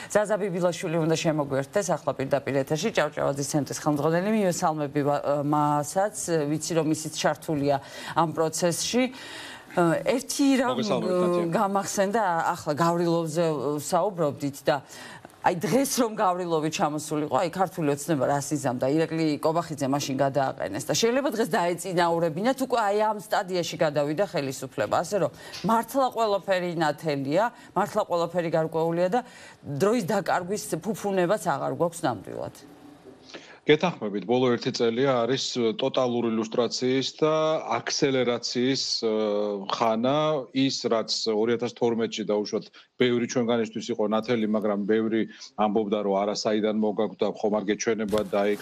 ზაზა ბიბილაშვილი უნდა შემოგვიერთდეს ახლა პირდაპირ ეთერში ჭავჭავაძის ცენტრის ხელმძღვანელი მივესალმები მასაც ვიცი რომ ისიც ჩართულია ამ პროცესში ერთი რამ გამახსენდა ახლა გავრილოვზე საუბრობდით და აი დღეს რომ გავრილოვი ჩამოსულიყო, აი ქართული ოცნება რას იზამდა, ირაკლი კობახიძე მაშინ გადააყენეს და შეიძლება დღეს დაეწინაურებინათ, უკვე აი ამ სტადიაში გადავიდა ხელისუფლება, ასე რომ მართლა ყველაფერი ნათელია, მართლა ყველაფერი გარკვეულია და დროის დაკარგვის ფუფუნებაც აღარ გვაქვს ნამდვილად. გეთანხმებით, ბოლო 1 წელია არის ტოტალური ილუსტრაციის და აქსელერაციის ხანა, ის რაც 2012-ში დაუშვათ ბევრი ჩვენგანისთვის იყო ნათელი, მაგრამ ბევრი ამბობდა, რომ არასაიდან მოგაგვდა ხომ არ გეჩვენება და აი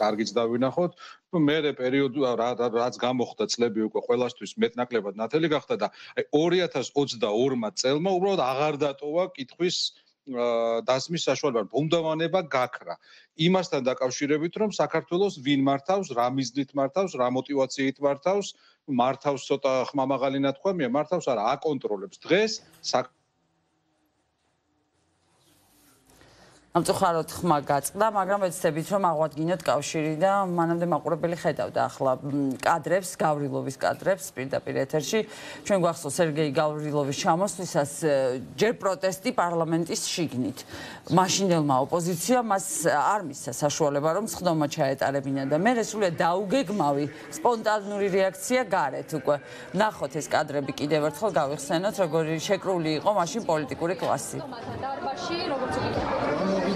კარგიც დავინახოთ. მერე პერიოდი რაც გამოხდა წლები უკვე ყველასთვის მეტნაკლებად ნათელი გახდა და აი 2022 წელმა უბრალოდ აღარ დატოვა კითხვის დასმის საშუალება, ბუნდოვანება გაქრა. იმასთან დაკავშირებით, რომ საქართველოს ვინ მართავს, რა მიზნით მართავს, რა მოტივაციით მართავს, მართავს ცოტა ხმამაღალი ნათქვამია, მართავს არა, აკონტროლებს. დღეს ამწუხაროდ ხმა გაწყდა, მაგრამ ვეცდებით რომ აღვადგინოთ კავშირი და მანამდე მაყურებელი ხედავდა ახლა კადრებს, გავრილოვის კადრებს პირდაპირ ეთერში. ჩვენ გვახსოვს სერგეი გავრილოვის ჩამოსვლისას ჯერ პროტესტი პარლამენტის შიგნით. მაშინდელმა ოპოზიციამ მას არ მისცა საშუალება რომ სხდომა ჩაეტარებინა და მე სულიად დაუგეგმავი სპონტანური რეაქცია გარეთ უკვე. ნახოთ ეს კადრები კიდევ ერთხელ გავიხსენოთ, როგორი შეკრული იყო მაშინ პოლიტიკური კლასი. და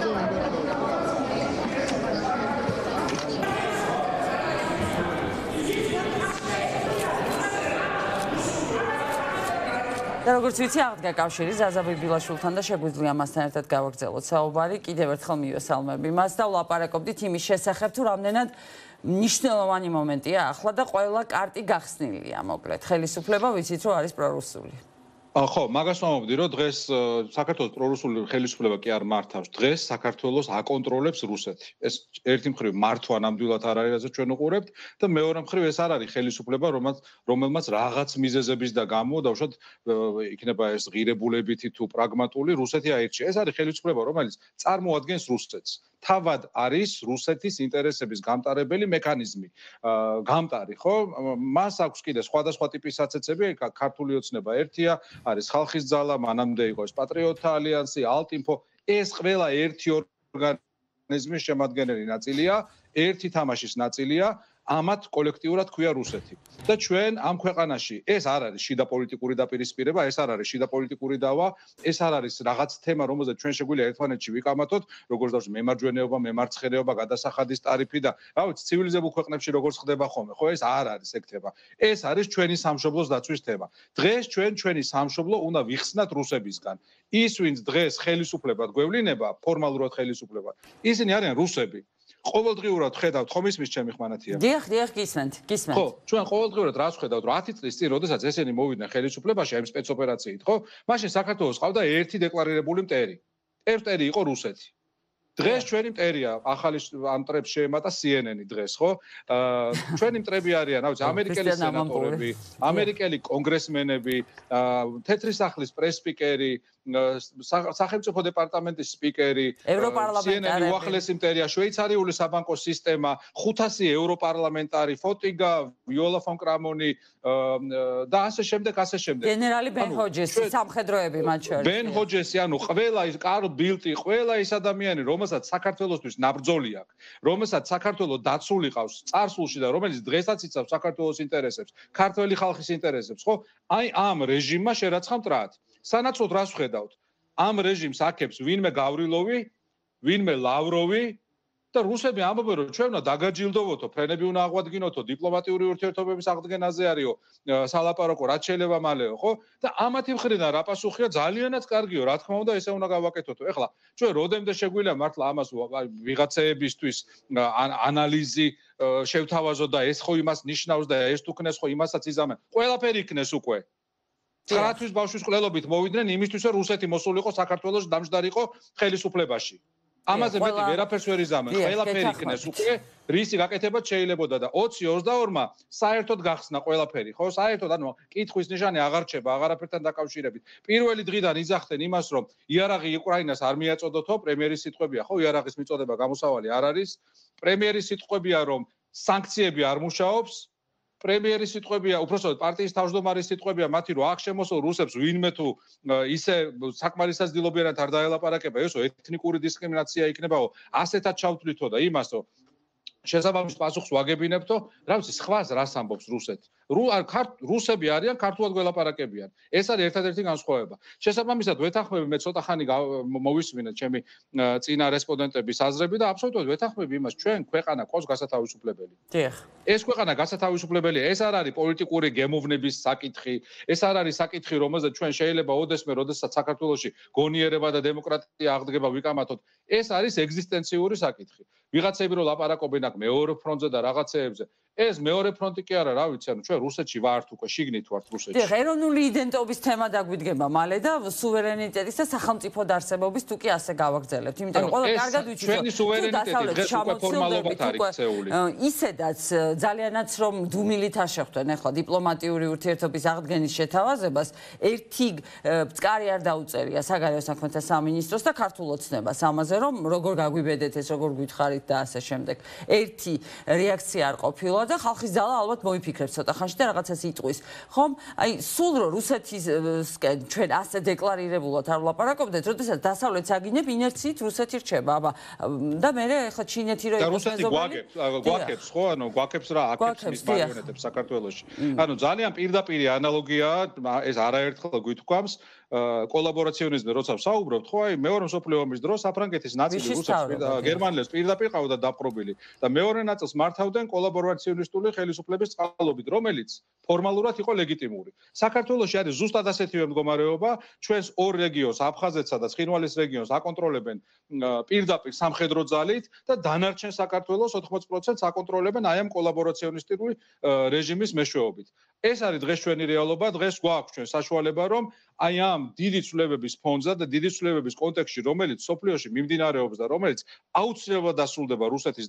როგორც ვიცი, აღდგა კავშირი ზაზა ბიბილაშვილთან და შეგვიძლია მასთან ერთად გავაგრძელოთ საუბარი. კიდევ ერთხელ მივესალმები მას და ვლაპარაკობდით იმის შესახებ, თუ რამდენად მნიშვნელოვანი მომენტია ახლა და ყველა კარტი გახსნილია, მოკლედ. ხელისუფლება ვიცით, რომ არის პრორუსული. ხო, მაგას ვამბობდი, რომ დღეს საქართველოს პრორუსული ხელისუფლება კი არ მართავს. დღეს საქართველოს აკონტროლებს რუსეთი. ეს ერთი მხრივ მართვა ნამდვილად არ არის, რაც ჩვენ უყურებთ და მეორე მხრივ ეს არ არის ხელისუფლება, რომელმაც რაღაც მიზეზების და გამო დავუშვათ იქნება ეს ღირებულებითი თუ პრაგმატული რუსეთი აირჩია. ეს არის ხელისუფლება, რომელიც წარმოადგენს რუსეთს. თავად არის რუსეთის ინტერესების გამტარებელი მექანიზმი. გამტარი, ხო? მას აქვს კიდე სხვადასხვა ტიპის საცეცები, ქართული ოცნება ერთია, არის ხალხის ძალა, მანამდე იყო ეს პატრიოტთა ალიანსი, ალტინფო, ეს ყველა ერთი ორგანიზმის შემადგენელი ნაწილია, ერთი თამაშის ნაწილია, ამათ კოლექტიურად ქვია რუსეთი. და ჩვენ ამ ქვეყანაში ეს არ არის შიდა პოლიტიკური დაპირისპირება, ეს არ არის შიდა პოლიტიკური დავა, ეს არ არის რაღაც თემა, რომელზეც ჩვენ შეგვიძლია ერთმანეთში ვიკამათოთ, როგორც დავს მემარჯვენეობა, მემარცხენეობა, გადასახადის ტარიფი და რა ვიცი, ცივილიზებულ ქვეყნებში როგორც ხდება ხოლმე, ხო, ეს არ არის ეგ თემა. ეს არის ჩვენი სამშობლოს დაცვის თემა. დღეს ჩვენი სამშობლო უნდა ვიხსნათ რუსებისგან. ის ვინც დღეს ხელისუფლებად გვევლინება, ფორმალურად ხელისუფლებად, ისინი არიან რუსები. ყოველდღიურად ხედავთ ხომ ისმის ჩემი ხმანათია. დიახ, გისმენთ. ხო, ჩვენ ყოველდღიურად რას ხედავთ, რომ 10 წლის წინ, როდესაც ესენი მოვიდნენ ხელისუფლებაში ამ სპეცოპერაციით, ხო? მაშინ საქართველოს ყავდა ერთი დეკლარირებული მტერი. ეს მტერი იყო რუსეთი. დღეს ჩვენი მტერია, ახალი ამ მტრებს შეემატა CNN-ი დღეს, ხო? ჩვენი მტრები არიან, რა ვიცი, ამერიკელი სენატორები, ამერიკელი კონგრესმენები, თეთრი სახლის პრესპიკერი, სახელმწიფო დეპარტამენტის სპიკერი, CNN-ი უახლესი მტერია, შვეიცარიული საბანკო სისტემა, 500 ევროპარლამენტარი, ფოტიგა, ვიოლა ფონ კრამონი და ასე შემდეგ. გენერალი ბენ ჰოჯესი, სამხედროები მათ შორის. ბენ ჰოჯესი, ანუ ყველა ის კარლ ბილტი, ყველა ის ადამიანი, რომელსაც საქართველოსთვის ნაბრძოლი აქვს, რომელსაც საქართველოს დაცული ყავს წარსულში და რომელიც დღესაც იცავს საქართველოს ინტერესებს, ქართველი ხალხის ინტერესებს, ხო? აი ამ რეჟიმმა შერაცხა მტრად. სანაცვლოდ რას ვხედავთ? ამ რეჟიმს აქებს ვინმე გავრილოვი, ვინმე ლავროვი და რუსები ამბობენ, რომ ჩვენ უნდა დაგაჯილდოვოთო, ფრენები უნდა აღვადგინოთო, დიპლომატიური ურთიერთობების აღდგენაზე არისო, სალაპარაკო, რაც შეიძლება მალეო, ხო? და ამათი მხრიდან რა პასუხია ძალიანაც კარგიო, რა თქმა უნდა, ესე უნდა გავაკეთოთო. ეხლა ჩვენ როდემდე შეგვიძლია მართლა ამას ვიღაცეებისთვის ანალიზი შევთავაზოთ და ეს ხო იმას ნიშნავს და ეს თუ ქნეს ხო იმასაც იზამენ. ყველაფერი იქნეს უკვე. 9 თვის ბავშვის ყლელობით მოვიდნენ იმისთვის, რომ რუსეთი მოსულიყო საქართველოს დამჯდარიყო ხელისუფლებაში. ამაზე მეტი ვერაფერს ვერ იზამენ. ყველაფერი იქნეს უკვე რისი გაკეთებაც შეიძლებოდა და 20-22-მა საერთოდ გახსნა ყველაფერი, ხო? საერთოდ ანუ კითხვის ნიშანი აღარ რჩება აღარაფერთან დაკავშირებით. პირველი დღიდან იძახდნენ იმას, რომ იარაღი უკრაინას არ მიაწოდოთო, პრემიერის სიტყვებია, ხო? იარაღის მიწოდება გამოსავალი არ არის. პრემიერის სიტყვებია, რომ სანქციები არ მუშაობს. პრემიერის სიტყვებია, უпростоოდ პარტიის თავმჯდომარის სიტყვებია მათი, რომ აქ შემოსულ რუსებს ვინმე თუ ისე საკმარისად ძილობიერად არ დაელაპარაკება, ესო ეთნიკური დისკრიმინაცია იქნებაო, ასეთად ჩავთვლითო და იმასო შესაბამის პასუხს ვაგებინებთო, რა ვიცი, სხვას რას ამბობს რუსეთი. რუსები არიან, ქართულად გველაპარაკებიან. ეს არის ერთადერთი განსხვავება. შესაბამისად, ვეთანხმები მე ცოტა ხანი მოვისმინეთ ჩემი წინა რესპონდენტების აზრები და აბსოლუტურად ვეთანხმები იმას, ჩვენ ქვეყანა ყავს გასათავისუფლებელი. დიახ. ეს ქვეყანა გასათავისუფლებელია, ეს არ არის პოლიტიკური გემოვნების საკითხი, ეს არ არის საკითხი, რომელზეც ჩვენ შეიძლება ოდესმე, როდესაც საქართველოში გონიერება და დემოკრატია აღდგება ვიკამათოთ. ეს არის ეგზისტენციური საკითხი. ვიღაცები რო ლაპარაკობენ აქ მეორე ფრონტზე და რაღაცეებზე. ეს მეორე ფრონტი კი არა, რა ვიცი, ანუ ჩვენ რუსეთში ვართ უკვე, შიგნით ვართ რუსეთში. დიახ, ეროვნული იდენტობის თემა დაგვიდგება მალე და სუვერენიტეტის და სახელმწიფო დაარსებობის თუ კი ასე გავაგრძელებთ, იმიტომ რომ ყველა კარგად ვიცით, ჩვენი სუვერენიტეტი დღეს უკვე ფორმალობად არის ქცეული. ისედაც ძალიანაც რომ დუმილით არ შეხვდნენ ახლა დიპლომატიური ურთიერთობის აღდგენის შეთავაზებას, ერთი წყარი არ დაუწერია საგარეო საქმეთა სამინისტროს და ქართულ ოცნებას ამაზე, რომ როგორ გაგვიბედეთ ეს, როგორ გვითხარით და ასე შემდეგ. ერთი რეაქცია არ ყოფილა და ხალხის ძალა ალბათ მოიფიქრებს ცოტა ხანში და რაღაცას იტყვის. ხომ? აი, სულ რო რუსეთისკენ ჩვენ ასე დეკლარირებულად არ ვლაპარაკობდეთ, როდესაც დასავლეთს აგინებ, ინერციით რუსეთი რჩება, აბა და მე ახლა ჩინეთი რო იყოს მეზობელი. გვაქებს, ხო? ანუ გვაქებს რა, აქებს მის მარიონეტებს საქართველოში. ანუ ძალიან პირდაპირი ანალოგიაა, ეს არაერთხელ გვითქვამს. კოლაბორაციონიზმზე როცა ვსაუბრობთ, ხო, აი მეორე მსოფლიო ომის დროს საფრანგეთის ნაწილი რუსებს და გერმანელებს პირდაპირ ყავდა დაპყრობილი და მეორე ნაწილს მართავდნენ კოლაბორაციონისტული ხელისუფლების წყალობით, რომელიც ფორმალურად იყო ლეგიტიმური. საქართველოში არის ზუსტად ასეთივე მდგომარეობა, ჩვენს ორ რეგიონს, აფხაზეთსა და ცხინვალის რეგიონს აკონტროლებენ პირდაპირ სამხედრო ძალით და დანარჩენ საქართველოს 80% აკონტროლებენ აი ამ კოლაბორაციონისტული რეჟიმის მეშვეობით. ეს არის დღეს ჩვენი რეალობა, დღეს გვაქვს ჩვენ საშუალება, რომ აი ამ დიდი ცვლილებების ფონზე და დიდი ცვლილებების კონტექსტში, რომელიც სოფლიოში მიმდინარეობს და რომელიც აუცილებლად დასრულდება რუსეთის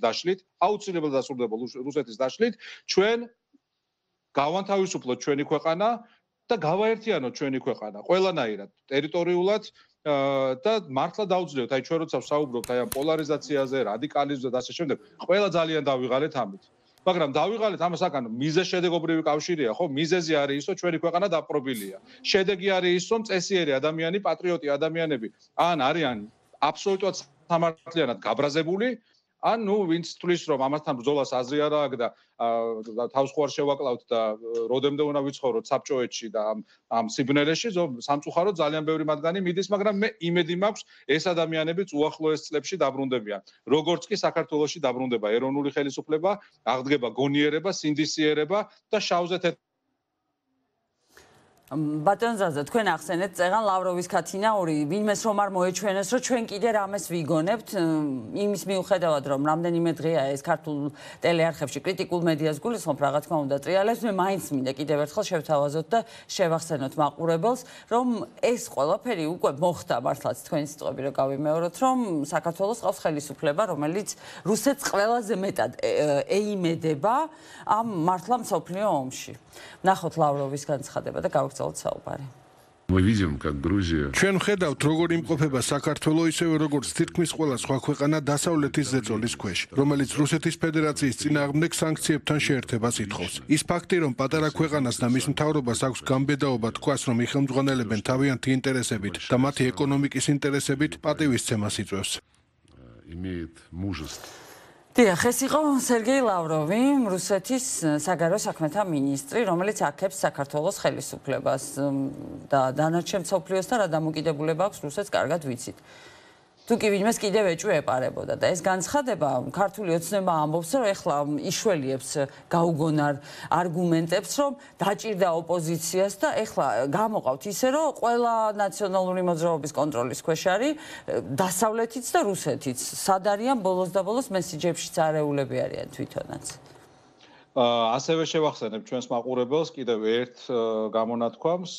დაშლით, ჩვენ გავანთავისუფლოთ ჩვენი ქვეყანა და გავაერთიანოთ ჩვენი ქვეყანა ყველანაირად, ტერიტორიულად და მართლა დაუძლიოთ, აი ჩვენ როცა ვსაუბრობთ აი ამ პოლარიზაციაზე, რადიკალიზმზე და ასე შემდეგ, ყველა ძალიან დავიღალეთ ამით. მაგრამ დავიღალეთ ამას აკანო მიზეზშედეგობრივი კავშირია, ხო? მიზეზი არის ის, რომ ჩვენი ქვეყანა დაპყრობილია. შედეგი არის ის, რომ წესიერი ადამიანი, პატრიოტი ადამიანები ან არიან აბსოლუტურად სამართლიანად გაბრაზებული, ან ნუ ვინც თვლის, რომ ამასთან ბრძოლას აზრი არ აქვს და თავს ხوار შევაკლავთ და როდემდე უნდა ვიცხოვროთ საბჭოეთში და ამ სიბნელეში, სამწუხაროდ ძალიან ბევრი მათგანი მიდის, მაგრამ მე იმედი მაქვს, ეს ადამიანებიც უახლოეს წლებში დაბრუნდებიან. როგორც კი საქართველოში დაბრუნდება ეროვნული ხელისუფლება, აღდგება გონიერება, სინდისიერება და შავზე ბატონ ზაზა, თქვენ ახსენეთ წეღან ლავროვის ქათინაური, ვინმეს რომ არ მოეჩვენეს, რომ ჩვენ კიდე რამეს ვიგონებთ, იმის მიუხედავად, რომ რამდენიმე დღეა ეს ქართულ ტელეარხებში კრიტიკულ მედიას გულისხმობ, რა თქმა უნდა, ტრიალებს, მე მაინც მინდა კიდევ ერთხელ შევთავაზოთ და შევახსენოთ მაყურებელს, რომ ეს ყველაფერი უკვე მოხდა მართლაც თქვენი სიტყვები რო გავიმეოროთ, რომ საქართველოს ყავს ხელისუფლება, რომელიც რუსეთს ყველაზე მეტად ეიმედება ამ მართლა მსოფლიო ომში. ნახოთ ლავროვის განცხადება და გავაგრძელოთ საუბარი. ჩვენ ხედავთ, როგორ იმყოფება საქართველო ისევე როგორც თითქმის ყველა სხვა ქვეყანა დასავლეთის ზეწოლის ქვეშ, რომელიც რუსეთის ფედერაციის წინააღმდეგ სანქციებთან შეერთებას ითხოვს. ის ფაქტი, რომ პატარა ქვეყანას და მის მთავრობას აქვს გამბედაობა თქვას, რომ იხელმძღვანელებენ თავიანთი ინტერესებით და მათი ეკონომიკის ინტერესებით, პატივისცემას იწვევს. დიახ, ეს იყო სერგეი ლავროვი, რუსეთის საგარეო საქმეთა მინისტრი, რომელიც აქებს საქართველოს ხელისუფლებას და დანარჩენ მსოფლიოსთან რა დამოკიდებულება აქვს რუსეთს, კარგად ვიცით. თუ კი ვინმეს კიდევ ეჭვი ეპარებოდა და ეს განცხადება ქართული ოცნება ამბობს, რომ ეხლა იშველიებს გაუგონარ არგუმენტებს, რომ დაჭირდა ოპოზიციას და ეხლა გამოყავთ ისე, რომ ყველა ნაციონალური მოძრაობის კონტროლის ქვეშ არის დასავლეთიც და რუსეთიც. სად არიან ბოლოს და ბოლოს მესიჯებშიც არეულები არიან თვითონაც. ასევე შევახსენებ ჩვენს მაყურებელს კიდევ ერთ გამონათქვამს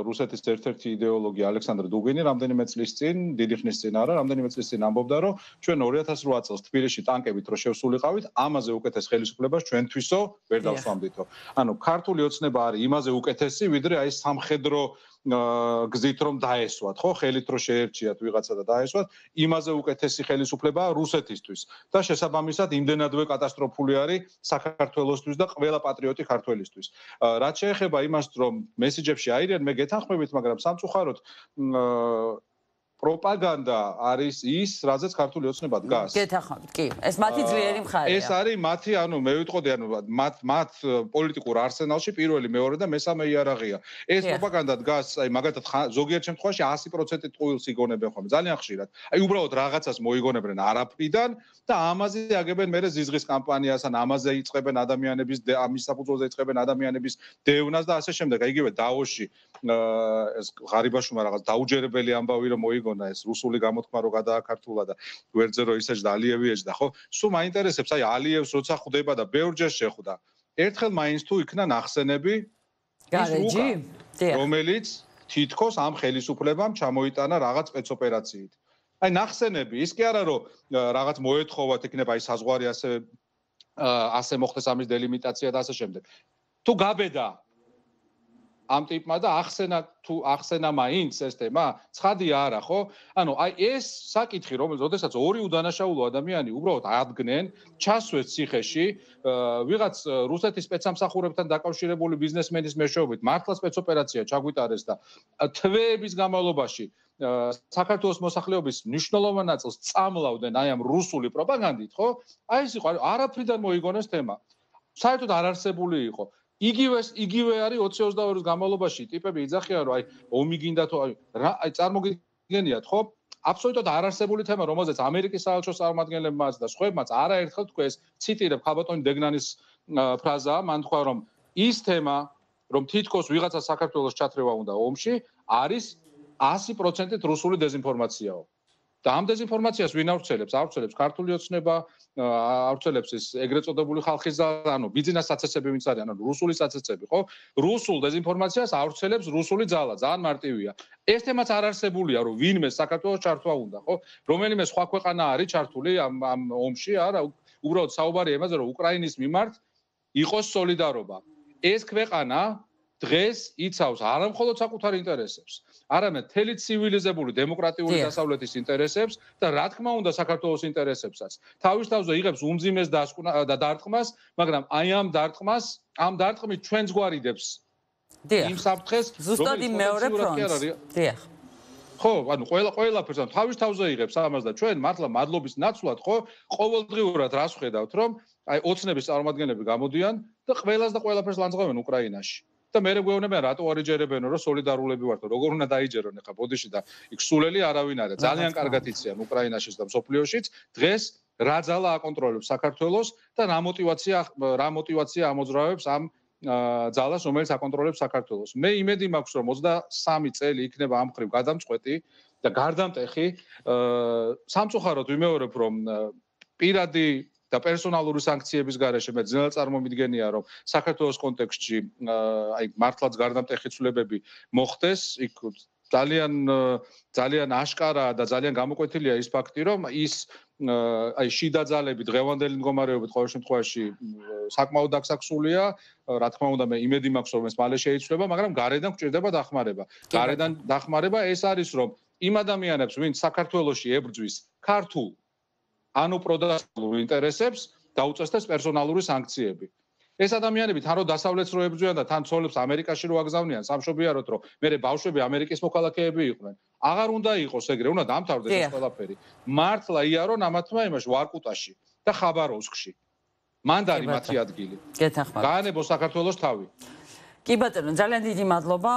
რუსეთის ერთ-ერთი იდეოლოგი ალექსანდრ დუგინი რამდენიმე წლის წინ, დიდი ხნის წინ არა, რამდენიმე წლის წინ ამბობდა, რომ ჩვენ 2008 წელს თბილისში ტანკებით რო შევსულიყავით, ამაზე უკეთეს ხელისუფლებას ჩვენთვისო ვერ დავსვამდითო. ანუ ქართული ოცნება არის იმაზე უკეთესი, ვიდრე აი სამხედრო გზით რომ დაესვათ, ხო, ხელით რო შეერჩიათ ვიღაცა და დაესვათ, იმაზე უკეთესი ხელისუფლებაა რუსეთისთვის და შესაბამისად იმდენადვე კატასტროფული არის საქართველოსთვის და ყველა პატრიოტი ქართველისთვის. რაც შეეხება იმას, რომ მესიჯებში აირიან, მე გეთანხმებით, მაგრამ სამწუხაროდ პროპაგანდა არის ის, რაზეც ქართული ოცნება დგას. გეთანხმებით, კი. ეს მათი ძლიერი მხარეა. ეს არის მათი, ანუ მე ვიტყოდი, ანუ მათ პოლიტიკურ არსენალში პირველი, მეორე და მესამე იარაღია. ეს პროპაგანდა დგას, აი მაგალითად ზოგიერთ შემთხვევაში 100% ტყუილს იგონებენ ხოლმე, ძალიან ხშირად. აი უბრალოდ რაღაცას მოიგონებენ არაფრიდან და ამაზე აგებენ მერე ზიზღის კამპანიას, ან ამაზე იწყებენ ადამიანების ამის საფუძველზე იწყებენ ადამიანების დევნას და ასე შემდეგ. აი იგივე დაოში ეს ღარიბაშვილმა რაღაც დაუჯერებელი ამბავი რომ მოიგო ეს რუსული გამოთქმა რო გადააქართულა და გვერდზე რო ისეჯდა ალიევი ეჯდა ხო სულ მაინტერესებს აი ალიევს როცა ხვდება და ბევრჯერ შეხვდა ერთხელ მაინც თუ იქნა ნახსენები გარეჯი რომელიც თითქოს ამ ხელისუფლებამ ჩამოიტანა რაღაც სპეცოპერაციით აი ნახსენები ის კი არა რომ რაღაც მოეთხოვათ იქნება აი საზღვარი ასე მოხდეს ამის დელიმიტაცია და ასე შემდეგ თუ გაბედა ამ ტიპმა და ახსენა მაინც ეს თემა ცხადია არა ხო ანუ აი ეს საკითხი რომელზეც ორი უდანაშაულო ადამიანი უბრალოდ ადგენენ ჩასვეს ციხეში ვიღაც რუსეთის სპეცსამსახურებთან დაკავშირებული ბიზნესმენის მეშვეობით მართლა სპეცოპერაცია ჩაგვიტარეს და თვეების განმავლობაში საქართველოს მოსახლეობის მნიშვნელოვან ნაწილს წამლავდნენ აი ამ რუსული პროპაგანდით ხო აი ეს იყო არაფრიდან მოიგონეს თემა საერთოდ არ არსებული იყო იგივე არის 2022-ის განმავლობაში ტიპები იძახიან რომ აი ომი გინდა თუ აი წარმოგიდგენიათ ხო აბსოლუტურად არარსებული თემა რომელზეც ამერიკის საელჩოს წარმომადგენლებმაც და სხვებმაც არაერთხელ თქვეს ციტირებ ხალბატონი დეგნანის ფრაზაა მან თქვა რომ ის თემა რომ თითქოს ვიღაცა საქართველოს ჩათრევა უნდა ომში არის 100%-ით რუსული დეзинფორმაციაო და ამ დეзинფორმაციას ვინ ავრცელებს? ავრცელებს ქართული ოცნება, ავრცელებს ეს ეგრეთ წოდებული ხალხის ანუ ბიზნეს საცეცები ვინც არის, ანუ რუსული საცეცები, ხო? რუსულ დეзинფორმაციას ავრცელებს რუსული ძალა, ძალიან მარტივია. ეს თემაც არ არსებულია, რომ ვინმე საქართველოს ჩართვა უნდა, ხო? რომელიმე სხვა ქვეყანა არის ჩართული ამ ომში, არა, უბრალოდ საუბარია იმაზე, რომ უკრაინის მიმართ იყოს სოლიდარობა. ეს ქვეყანა დღეს იცავს არა მხოლოდ საკუთარ ინტერესებს, არამედ მთელი ცივილიზებული დემოკრატიული დასავლეთის ინტერესებს და რა თქმა უნდა საქართველოს ინტერესებსაც. თავის თავზე იღებს უმძიმეს და დარტყმას, მაგრამ აი ამ დარტყმით ჩვენს გვარიდებს. იმ საფრთხეს, ზუსტად იმ მეორე ფრონტს. დიახ. ხო, ანუ ყველაფერს თავის თავზე იღებს ამას და ჩვენ მართლა მადლობის ნაცვლად ხო ყოველდღიურად რას ხედავთ, რომ აი ოცნების წარმომადგენლები გამოდიან და ყველას და ყველაფერს ლანძღავენ უკრაინაში. და მე გვეუბნებიან რატო არ იჯერებენო რომ სოლიდარულები ვართ როგორ უნდა დაიჯერონ ახლა ბოდიში და იქ სულელი არავინ არა ძალიან კარგად იციან უკრაინაშიც და მსოფლიოშიც დღეს რა ძალა აკონტროლებს საქართველოს და რა მოტივაცია ამოძრავებს ამ ძალას რომელიც აკონტროლებს საქართველოს მე იმედი მაქვს რომ 23 წელი იქნება ამ ხრივ გადამწყვეტი და გარდამტეხი სამწუხაროდ ვიმეორებ რომ პირადი და პერსონალური სანქციების გარეშე მე ძნელად წარმომიდგენია რომ საქართველოს კონტექსტში აი მართლაც გარდამტეხი ცვლილებები მოხდეს იქ ძალიან აშკარაა და ძალიან გამოკვეთილია ის ფაქტი რომ ის აი შიდა ძალები დღევანდელი მდგომარეობით ყოველ შემთხვევაში საკმაოდ დაგსაქსულია რა თქმა უნდა მე იმედი მაქვს რომ ეს მალე შეიცვლება მაგრამ გარედან გვჭირდება დახმარება გარედან დახმარება ეს არის რომ იმ ადამიანებს ვინც საქართველოში ებრძვის ქართულ ანუ პროდასტულ ინტერესებს დაუწესდეს პერსონალური სანქციები. ეს ადამიანები თან რო დასავლეთს რო ებრძვიან და თან ცოლებს ამერიკაში რო აგზავნიან, სამშობიაროთ რო მერე ბავშვები ამერიკის მოქალაქეები იყვნენ. აღარ უნდა იყოს ეგრე, უნდა დამთავრდეს ეს ყველაფერი. მართლა იარონ ამათმა იმაში ვარკუტაში და ხაბაროვსკში. მანდ არის მათი ადგილი. გეთანხმებით. გაანებო საქართველოს თავი. კი ბატონო, ძალიან დიდი მადლობა.